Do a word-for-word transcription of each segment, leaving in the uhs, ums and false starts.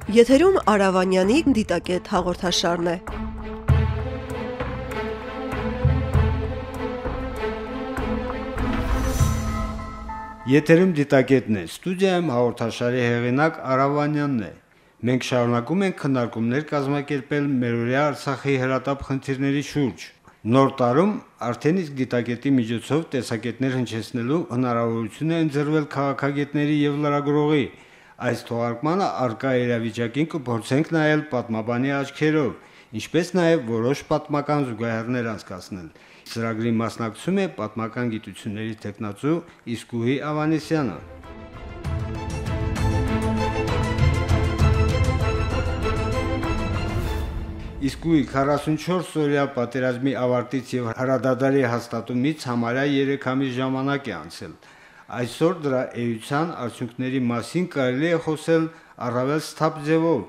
Եթերում Արավանյանի դիտակետ հաղորդաշարն է։ Եթերում դիտակետն է, ստուդիայում հաղորդաշարի հեղինակ Արավանյանն է։ Մենք շարունակում ենք քննարկումներ կազմակերպել մերօրյա Արցախի հրատապ խնդիրների շուրջ։ Նոր տարում արդեն իսկ դիտակետի միջոցով տեսակետներ հնչեցնելու հնարավորություն է ընձեռվել քաղաքագետների եւ լրագրողի։ Այս թողարկմանը արկա իրավիճակին կփորձենք նայել պատմաբանի աչքերով, ինչպես նաեւ որոշ պատմական զուգահեռներ անցկացնել։ Ծրագրի մասնակցում է պատմական գիտությունների թեկնածու Իսկուհի Ավանեսյանը։ Իսկուհի քառասունչորս օրյա պատերազմի ավարտից եւ հրադադարի հաստատումից համարյա երեք ամիս ժամանակ է անցել։ Այսօր դրա էության արդյունքների մասին կարելի է խոսել առավել սթափ ձևով,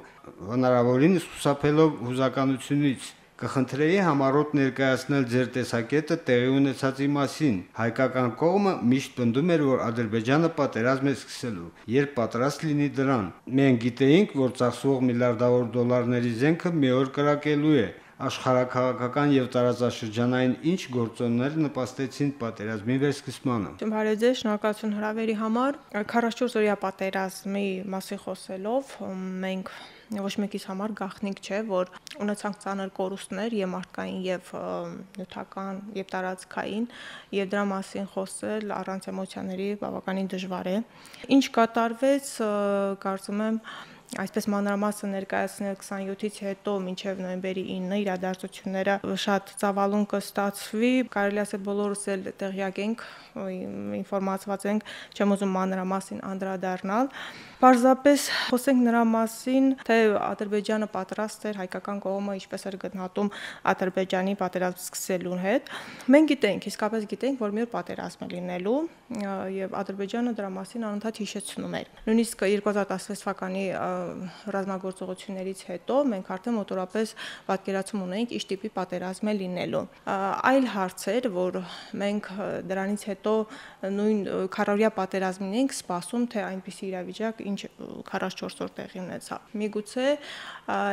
հնարավորինս խուսափելով հուզականությունից։ Կխնդրեի համառոտ ներկայացնել ձեր տեսակետը տեղի ունեցածի մասին։ Հայկական կողմը միշտ պնդում էր, որ Ադրբեջանը պատերազմ է սկսելու, երբ պատրաստ լինի դրան։ Մենք գիտեինք, որ ծախսվող միլիարդավոր դոլարների զենքը մի օր կրակելու է։ Աշխարհաքաղաքական եւ տարածաշրջանային ինչ գործոններ նպաստեցին պատերազմի վերսկսմանը։ Բարև ձեզ, շնորհակալություն հրավերի համար։ քառասունչորս օրյա պատերազմի մասին խոսելով, մենք ոչ մեկիս համար գաղտնիք չէ, որ ունեցանք ծանր կորուստներ եւ մարդկային եւ նյութական եւ տարածքային, եւ դրա մասին խոսել առանց էմոցիաների բավականին դժվար է։ Ինչ կատարվեց, կարծում եմ, այսպես մանրամասն ներկայացնել քսանյոթից հետո մինչև նոյեմբերի ինը իրադարձությունները շատ ծավալուն կստացվի, կարելի ասել բոլորս էլ տեղյակ ենք, ինֆորմացված ենք, չեմ ուզում մանրամասն անդրադառնալ։ Պարզապես խոսենք նրա մասին, թե Ադրբեջանը պատրաստ էր, հայկական կողմը ինչպես էր գնահատում Ադրբեջանի պատերազմ սկսելուն հետ։ Մենք գիտենք, իսկապես գիտենք, որ մի օր պատերազմ է լինելու, եւ Ադրբեջանը դրա մասին անընդհատ հիշեցնում էր։ Նույնիսկ երկու հազար տասնվեց թվականի ռազմագործողություններից հետո մենք արդեն մոտորապես պատկերացում ունենք ինչ տիպի պատերազմ է լինելու։ Այլ հարց էր, որ մենք դրանից հետո նույն քառօրյա պատերազմին ենք սպասում, թե այնպիսի իրավիճակ, ինչ քառասունչորս օր տեղի ունեցավ։ Միգուցե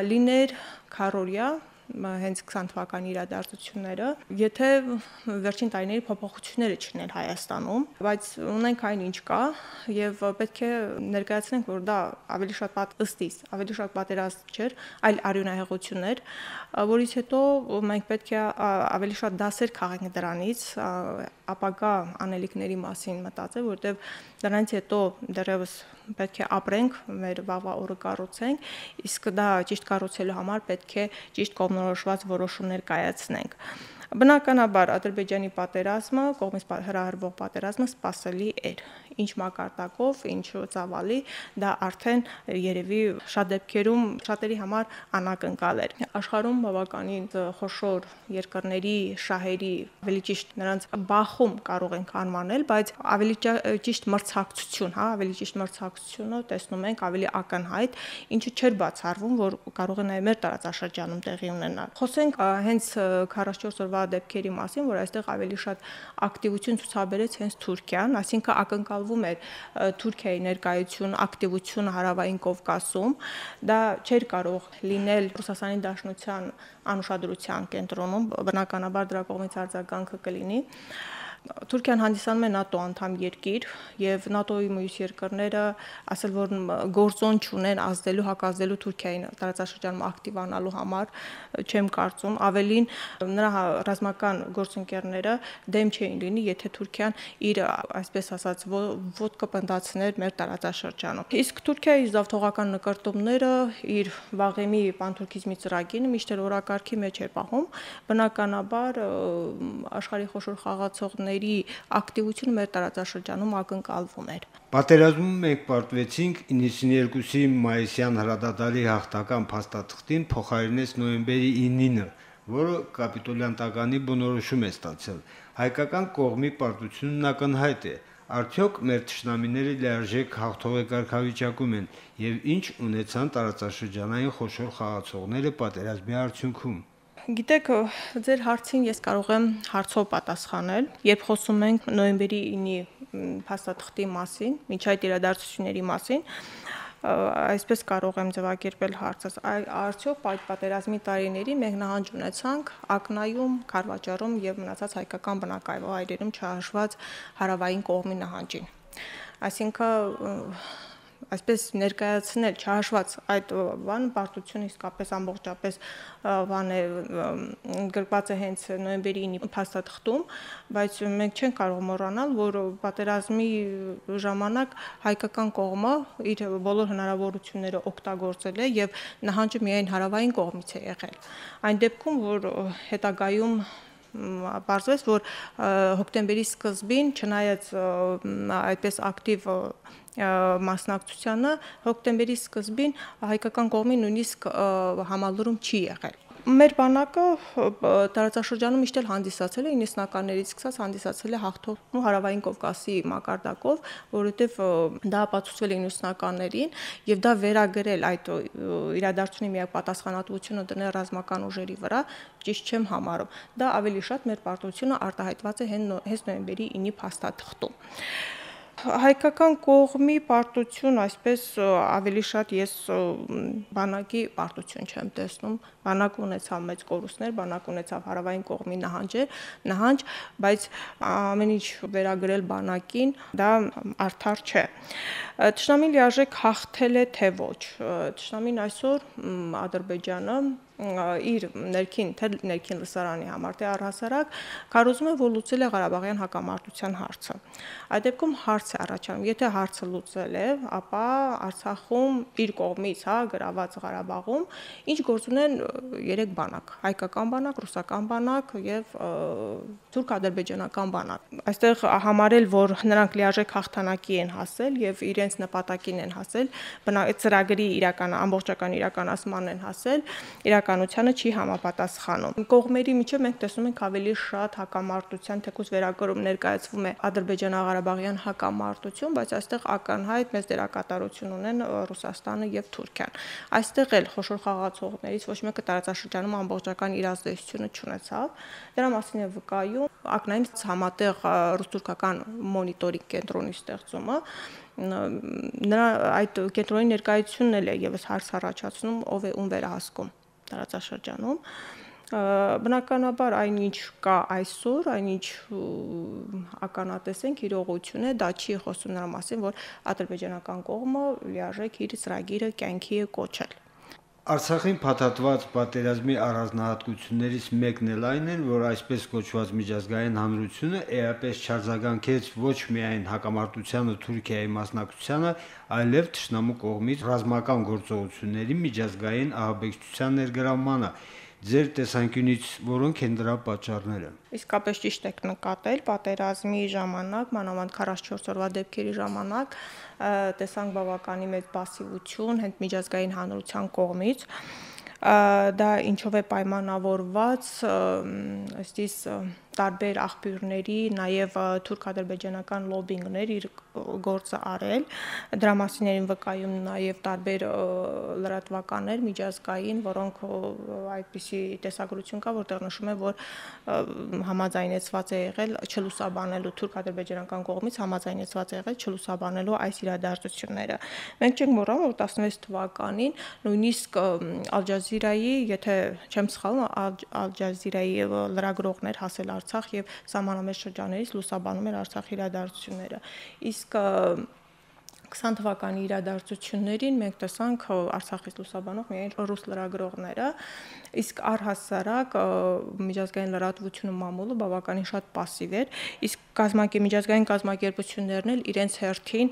լիներ քառօրյա հենց քսան թվականի իրադարձությունները, եթե վերջին տարիների փոփոխությունները չլիներ Հայաստանում, բայց ունենք այն ինչ կա եւ պետք է ներկայացնենք, որ դա ավելի շատ ըստիս, ավելի շատ պատերազմ չէր, այլ արյունահեղություն էր, որից հետո մենք պետք է ավելի շատ դասեր քաղենք դրանից, ապագա անելիքների մասին մտածել, որտեղ դրանից հետո դեռևս պետք է ապրենք, մեր վաղվա օրը կառուցենք, իսկ դա ճիշտ կառուցելու համար պետք է ճիշտ կողմնորոշված որոշումներ կայացնենք։ Բնականաբար Ադրբեջանի պատերազմը, կողմից հրահրվող պատերազմը սպասելի էր։ Ինչ մակարդակով, ինչ ծավալի, դա արդեն երևի շատ դեպքերում շատերի համար անակնկալ էր։ Աշխարհում բավականին խոշոր երկրների շահերի, ավելի ճիշտ նրանց բախում կարող ենք անվանել, բայց ավելի ճիշտ մրցակցություն, հա, ավելի ճիշտ մրցակցությունը տեսնում ենք ավելի ակնհայտ, ինչը չէր բացառվում, որ կարող է նաև մեր տարածաշրջանում տեղի ունենալ։ Խոսենք հենց քառասունչորս օրվա դեպքերի մասին, որ այստեղ ավելի շատ ակտիվություն ցուցաբերեց հենց Թուրքիան, այսինքն ակնկալվում էր Թուրքիայի ներկայություն, ակտիվություն Հարավային Կովկասում, դա չէր կարող լինել Ռուսաստանի Դաշնության անուշադրության կենտրոնում, բնականաբար դրա կողմից արձագանքը կլինի։ Թուրքիան հանդիսանում է ՆԱՏՕ անդամ երկիր եւ ՆԱՏՕ-ի մյուս երկրները ասել որ գործոն չունեն ազդելու, հակազդելու Թուրքիային տարածաշրջանում ակտիվանալու համար, չեմ կարծում, ավելին նրա ռազմական գործընկերները դեմ չէին լինի, եթե Թուրքիան իր, այսպես ասած, ոտքը պնդացներ մեր տարածաշրջանում։ Իսկ Թուրքիայի զավթողական նկարտումները իր վաղեմի պանթուրքիզմի ծրագիրը միշտ օրակարգի մեջ էր պահում, բնականաբար աշխարհի խոշոր խաղացողներ ակտիվությունը մեր տարածաշրջանում ակնկալվում էր։ Պատերազմում մենք պարտվեցինք իննսունյերկուսի մայիսյան հրադադարի հաղթական փաստաթղթին փոխարինեց նոյեմբերի ինինը, որը կապիտոլյան տականի բնորոշում է ստացել։ Հայկական կողմի պարտությունն ակնհայտ է։ Արդյոք մեր թշնամիները լիարժեք հաղթող կարգավիճակում են եւ ինչ ունեցան տարածաշրջանային խոշոր խաղացողները պատերազմի արդյունքում։ Գիտեք, ձեր հարցին ես կարող եմ հարցով պատասխանել, երբ խոսում ենք նոյեմբերի ինի փաստաթղթի մասին, միջայտ իրադարձությունների մասին, Այսպես կարող եմ ձևակերպել հարցս։ Արդյոք այդ պատերազմի տարիներին մենք նահանջ ունեցանք Ակնայում, Քարվաճառում եւ մնացած հայկական բնակավայրերում չհաշված հարավային կողմի նահանջին։ Այսինքն այսպես ներկայացնել չհաշված այդ բան պարտությունը իսկապես ամբողջապես բան է գրված է հենց նոյեմբերի ինի փաստաթղթում, բայց մենք չենք կարող մոռանալ, որ պատերազմի ժամանակ հայկական կողմը իր բոլոր հնարավորությունները օգտագործել է եւ նահանջը միայն հարավային կողմից է եղել։ Այն դեպքում, որ հետագայում պարզվեց, որ հոկտեմբերի սկզբին, չնայած այդպես ակտիվ մասնակցությանը, հոկտեմբերի սկզբին հայկական կողմի նույնիսկ համալուրում չի եղել։ Մեր բանակը տարածաշրջանում միշտ էլ հանդիսացել է իննսունականներից սկսած հանդիսացել է հաղթող հարավային Կովկասի մակարդակով, որովհետև դա ապացուցվել է իննսունականներին եւ դա վերագրել այդ իրադարձությունի միակ պատասխանատվությունը դնել ռազմական ուժերի վրա ճիշտ չեմ համարում։ Դա ավելի շատ մեր պարտությունը արտահայտված է հենց նոյեմբերի ինի փաստաթղթում։ Հայկական կողմի պարտություն, այսպես ավելի շատ ես բանակի պարտություն չեմ տեսնում, բանակը ունեցավ մեծ կորուստներ, բանակը ունեցավ հարավային կողմի նահանջեր, նահանջ, բայց ամեն ինչ վերագրել բանակին, դա արդար չէ։ Թշնամին լիարժեք հաղթել է թե ոչ։ Թշնամին այսօր Ադրբեջանը իր ներքին, թե ներքին լսարանի համար, թե առհասարակ քարոզում է, որ լուծել է Ղարաբաղյան հակամարտության հարցը։ Այդ դեպքում հարց է առաջանում, եթե հարցը լուծել է, ապա Արցախում իր կողմից, հա, գրաված Ղարաբաղում ինչ գործ ունեն երեք բանակ՝ հայկական բանակ, ռուսական բանակ եւ թուրք-ադրբեջանական բանակ։ Այստեղ համարել, որ նրանք լիարժեք հաղթանակի են հասել եւ իրենց նպատակին են հասել, ծրագրի իրական ամբողջական իրականացման են հասել, իրականությանը չի համապատասխանում։ Կողմերի միջև մենք տեսնում ենք ավելի շատ հակամարտության, թեկուզ վերագրում ներկայացվում է ադրբեջանա-ղարաբաղյան հակամարտություն, բայց այստեղ ակնհայտ մեծ դերակատարություն ունեն Ռուսաստանը եւ Թուրքիան։ Այստեղ էլ խոշոր խաղացողներից ոչ մեկը տարածաշրջանում ամբողջական իր ազդեցությունը չունեցավ։ Դրա մասին է վկայում ակնային համատեղ ռուս-թուրքական մոնիտորինգ կենտրոնի ստեղծումը։ Նրա այդ կենտրոնի ներկայությունն էլ է եւս հարց առաջացնում, ով է ում վերահսկում տարածաշրջանում։ Բնականաբար այնինչ կա այսօր, այնինչ ականատես ենք իրողություն է, դա չի խոսում նրա մասին, որ ադրբեջանական կողմը լիարժեք իր ծրագիրը կյանքի է կոչել։ Արցախին փաթաթված պատերազմի առանձնահատկություններից մեկն էլ այն է, որ այսպես կոչված միջազգային հանրությունը էապես չարձագանքեց ոչ միայն հակամարտությանը Թուրքիայի մասնակցությանը, այլև թշնամու կողմից ռազմական գործողությունների միջազգային ահաբեկչության ներգրավմանը։ Ձեր տեսանկյունից որոնք են դրա պատճառները։ Իսկապես ճիշտ եք նկատել, պատերազմի ժամանակ, մանավանդ քառասունչորս օրվա դեպքերի ժամանակ տեսանք բավականի մեծ պասիվություն հենց միջազգային հանրության կողմից։ Դա ինչով է պայմանավորված, ըստիս տարբեր աղբյուրների, նաև թուրք-ադրբեջանական լոբինգներ իր գործը արել, դրա մասին են վկայում նաև տարբեր լրատվականներ միջազգային, որոնք այդպիսի տեսագրություն կա, որտեղ նշում է, որ համաձայնեցված է եղել չլուսաբանելու թուրք-ադրբեջանական կողմից համաձայնեցված է եղել չլուսաբանելու այս իրադարձությունները։ Մենք չենք մոռանում, որ տասնվեց թվականին նույնիսկ Ալ Ջազիրայի, եթե չեմ սխալվում, Ալ Ջազիրայի լրագրողներ հասել Արցախ եւ սահմանամերձ շրջաններից լուսաբանում էր Արցախի իրադարձությունները։ Իսկ քսան թվականի իրադարձություններին մենք տեսանք Արցախից լուսաբանող միայն ռուս լրագրողները, իսկ առհասարակ միջազգային լրատվությունը մամուլը բավականին շատ пассив էր, իսկ կազմակերպ միջազգային կազմակերպություններն էլ իրենց հերթին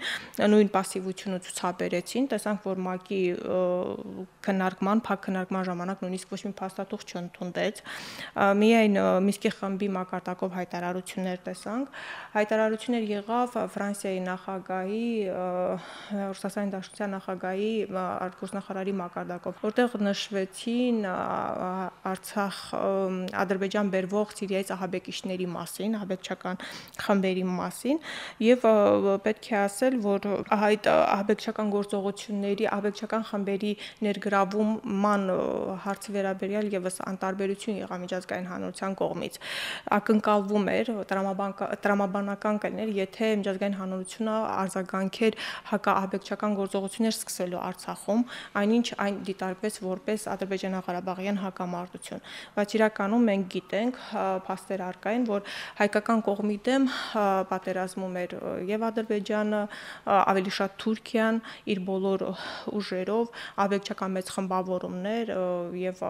նույն пассивությունը ցուցաբերեցին, տեսանք, որ ՄԱԿ-ի քննարկման, փակ քննարկման ժամանակ նույնիսկ ոչ մի փաստաթուղթ չընդունվեց, միայն Մինսկի խմբի մակարդակով հայտարարություններ տեսանք, հայտարարություններ եղավ Ֆրանսիայի նախագահի, Ռուսաստանի Դաշնության նախագահի արտգործնախարարի մակարդակով, որտեղ նշվեցին Արցախ Ադրբեջան բերվող Սիրիայից ահաբեկիչների մասին, ահաբեկչական խմբերի մասին, եւ պետք է ասել, որ այդ ահաբեկչական գործողությունների, ահաբեկչական խմբերի ներգրավման հարցի վերաբերյալ եւս անտարբերություն եղավ միջազգային հանրության կողմից։ Ակնկալվում էր տրամաբանական կլներ, եթե միջազգային հանրությունը արձագանքեր հակաահաբեկչական գործողություններ սկսելու Արցախում, այնինչ այն դիտարկվեց որպես ադրբեջանա-ղարաբաղյան հակամարտություն, բայց իրականում մենք գիտենք, փաստեր առկա են, որ հայկական կողմի դեմ պատերազմում էր եւ Ադրբեջանը, ավելի շատ Թուրքիան իր բոլոր ուժերով, ահաբեկչական մեծ խմբավորումներ եւ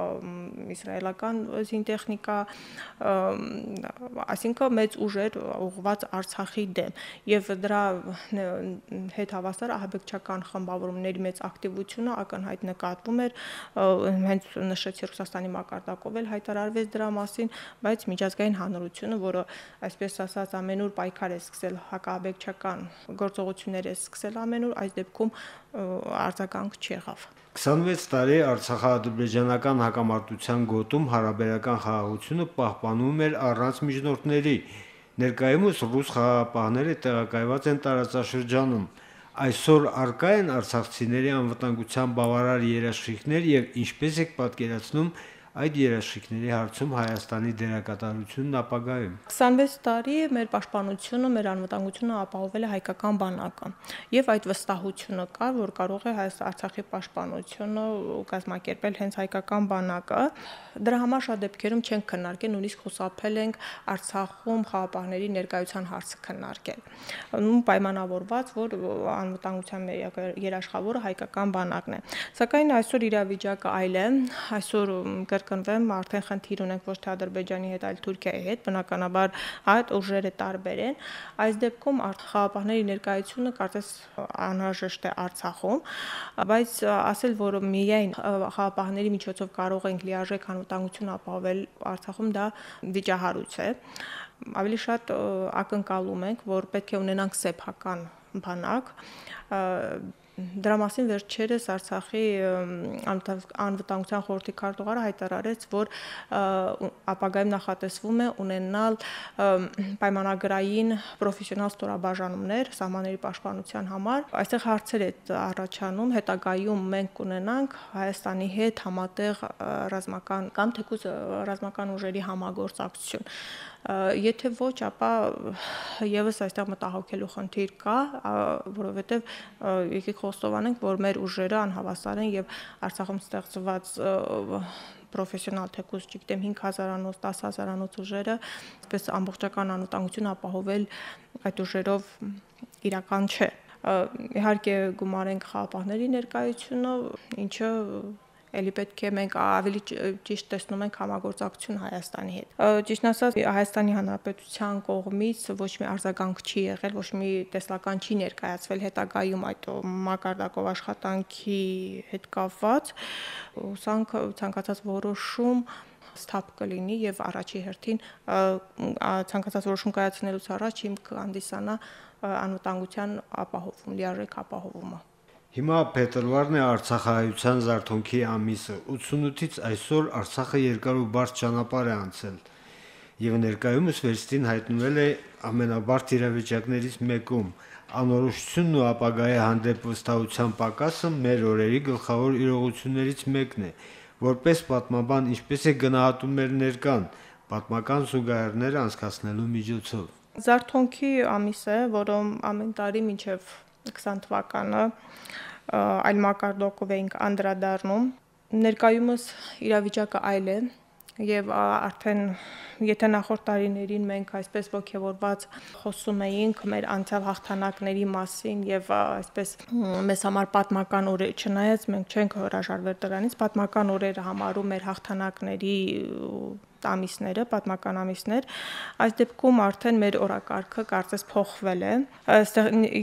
իսրայելական զինտեխնիկա, այսինքն մեծ ուժեր ուղղված Արցախի դեմ եւ դրա հետ հավասար ահաբեկչական խմբավորումների մեծ ակտիվությունը ակնհայտ նկատվում էր, հենց նշեցի Ռուսաստանի մակարդակով էլ հայտարարվեց դրա մասին, բայց միջազգային հանրությունը, որը այսպես ասած ամենուր պայքար է սկսել հակաահաբեկչական գործողություններ է սկսել ամենուր, այս դեպքում արձագանք չեղավ։ քսանվեց տարի Արցախա-ադրբեջանական հակամարտության գոտում հարաբերական խաղաղությունը պահպանվում էր առանց միջնորդների։ Ներկայումս ռուս խաղաղապահները տեղակայված են տարածաշրջանում։ Այսօր առկա են արցախցիների անվտանգության բավարար երաշխիքներ եւ ինչպես եք պատկերացնում այդ երաշխիքների հարցում Հայաստանի դերակատարությունն ապագայում։ քսանվեց տարի մեր պաշտպանությունը, մեր անվտանգությունը ապահովել է հայկական բանակը եւ այդ վստահությունը կա, որ կարող է Արցախի պաշտպանությունը կազմակերպել հենց հայկական բանակը։ Դրա համար շատ դեպքերում չենք քննարկել, նույնիսկ խուսափել ենք Արցախում խաղապահների ներկայության հարցը քննարկել։ Ու պայմանավորված, որ անվտանգության երաշխավորը հայկական բանակն է։ Սակայն այսօր իրավիճակը այլ է, այսօր կրկնվեմ, արդեն խնդիր ունենք ոչ թե Ադրբեջանի հետ, այլ Թուրքիայի հետ, բնականաբար այդ ուժերը տարբեր են։ Այս դեպքում խաղապահների ներկայությունը կարծես անհրաժեշտ է Արցախում, բայց ասել, որ միայն խաղապահների միջոցով կարող ենք լիարժեք անվտանգություն ապահովել Արցախում, դա վիճահարույց է։ Ավելի շատ ակնկալում ենք, որ պետք է ունենանք սեփական բանակ։ Դրա մասին վերջերս Արցախի անվտանգության խորհրդի քարտուղարը հայտարարեց, որ ապագայում նախատեսվում է ունենալ պայմանագրային պրոֆեսիոնալ ստորաբաժանումներ սահմանների պաշտպանության համար։ Այստեղ հարցեր է առաջանում, հետագայում մենք կունենանք Հայաստանի հետ համատեղ ռազմական կամ թեկուզ ռազմական ուժերի համագործակցություն։ Եթե ոչ, ապա եւս այստեղ մտահոգելու խնդիր կա, որովհետեւ եկեք խոստովանենք, որ մեր ուժերը անհավասար են եւ Արցախում ստեղծված պրոֆեսիոնալ թեկուզ, չգիտեմ, հինգ հազարանոց, տասը հազարանոց ուժերը, այսպես ամբողջական անվտանգություն ապահովել այդ ուժերով իրական չէ։ Իհարկե գումարենք խաղապահների ներկայությունը, ինչը Էլի պետք է մենք ավելի ճիշտ տեսնում ենք համագործակցություն Հայաստանի հետ։ Ճիշտն ասած, Հայաստանի Հանրապետության կողմից ոչ մի արձագանք չի եղել, ոչ մի տեսլական չի ներկայացվել հետագայում այդ մակարդակով աշխատանքի հետ կապված։ Հուսանք ցանկացած որոշում ստապ կլինի եւ առաջի հերթին ցանկացած որոշում կայացնելուց առաջ հիմք կհանդիսանա անվտանգության ապահովում, լիարժեք ապահովումը։ Հիմա փետրվարն է Արցախահայության զարթոնքի ամիսը, ութսունութից այսօր Արցախը երկար ու բարդ ճանապարհ է անցել եւ ներկայումս վերստին հայտնվել է ամենաբարդ իրավիճակներից մեկում։ Անորոշությունն ու ապագայի հանդեպ վստահության պակասը մեր օրերի գլխավոր իրողություններից մեկն է, որպես պատմաբան ինչպես է գնահատում մեր ներկան, պատմական զուգահեռներ անցկացնելու միջոցով։ Զարթոնքի ամիս է, որը ամեն տարի մինչև քսան թվականը այլ մակարդակով էինք անդրադառնում։ Ներկայումս իրավիճակը այլ է եւ արդեն եթե նախորդ տարիներին մենք այսպես ողջավորված խոսում էինք մեր անցյալ հաղթանակների մասին եւ այսպես մեզ համար պատմական օրեր, չնայած մենք չենք հրաժարվել դրանից, պատմական օրերը համարում մեր հաղթանակների ամիսները, պատմական ամիսներ, այս դեպքում արդեն մեր օրակարգը կարծես փոխվել է,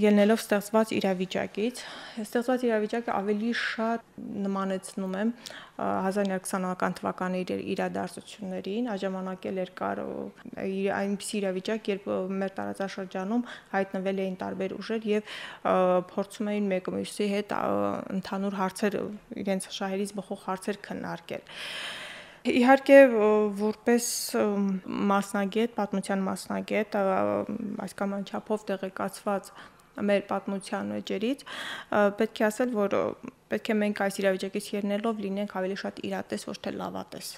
ելնելով ստեղծված իրավիճակից։ Ստեղծված իրավիճակը ավելի շատ նմանեցնում է հազար իննսուն քսանական թվականի իրադարձություններին, այդ ժամանակ էլ էր կար այնպիսի իրավիճակ, երբ մեր տարածաշրջանում հայտնվել էին տարբեր ուժեր եւ փորձում էին մեկը մյուսի հետ ընդհանուր հարցեր, իրենց շահերից բխող հարցեր քննարկել։ Իհարկե, որպես մասնագետ, պատմության մասնագետ, այսքան չափով տեղեկացված մեր պատմության էջերից, պետք է ասել, որ պետք է մենք այս իրավիճակից ելնելով լինենք ավելի շատ իրատես, ոչ թե լավատես։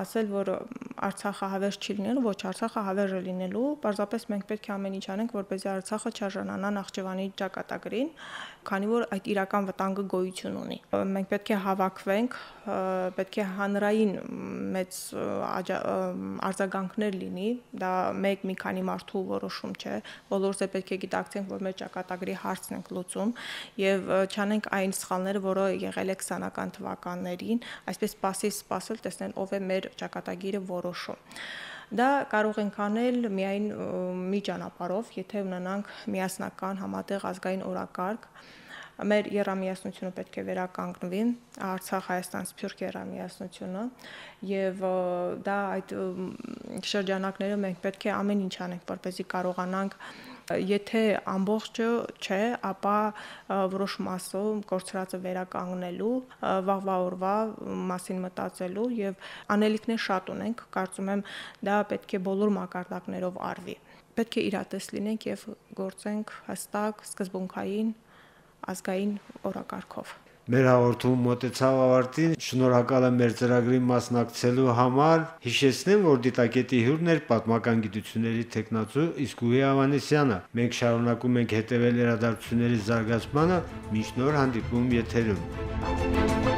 Ասել, որ Արցախը հավերժ չի լինելու, ոչ, Արցախը հավերժ է լինելու, պարզապես մենք պետք է ամեն ինչ անենք, որպեսզի Արցախը չարժանանա Նախճեվանի ճակատագրին, քանի որ այդ իրական վտանգը գոյություն ունի։ Մենք պետք է հավաքվենք, պետք է հանրային մեծ արձագանքներ լինի, դա մեկ մի քանի մարդու որոշում չէ, բոլորս է պետք է գիտակցենք, որ մեր ճակատագրի հարցն ենք լուծում եւ չանենք այն սխալները, որը եղել է քսանական թվականներին, այսպես սпасել սпасել տեսնել ով է մեր ճակատագիրը որոշում։ Դա կարող ենք անել միայն մի ճանապարհով, եթե ունենանք միասնական համատեղ ազգային օրակարգ։ Մեր եռամիասնությունը պետք է վերականգնվի, Արցախ-Հայաստան Սփյուռք եռամիասնությունը, եւ դա այդ շրջանակները մենք պետք է ամեն ինչ անենք, որպեսզի կարողանանք, եթե ամբողջը չէ, ապա որոշ մասը կորցրածը վերականգնելու, վաղվա օրվա մասին մտածելու եւ անելիքներ շատ ունենք, կարծում եմ դա պետք է բոլոր մակարդակներով արվի։ Պետք է իրատես լինենք եւ գործենք հստակ, սկզբունքային ազգային օրակարգով։ Մեր հաղորդումը մոտեցավ ավարտին, շնորհակալ եմ մեր ծրագրի մասնակցելու համար, հիշեցնեմ, որ դիտակետի հյուրն էր պատմական գիտությունների թեկնածու Իսկույի Ավանեսյանը։ Մենք շարունակում ենք հետևել իրադարձությունների զարգացմանը, մինչ նոր հանդիպում եթերում։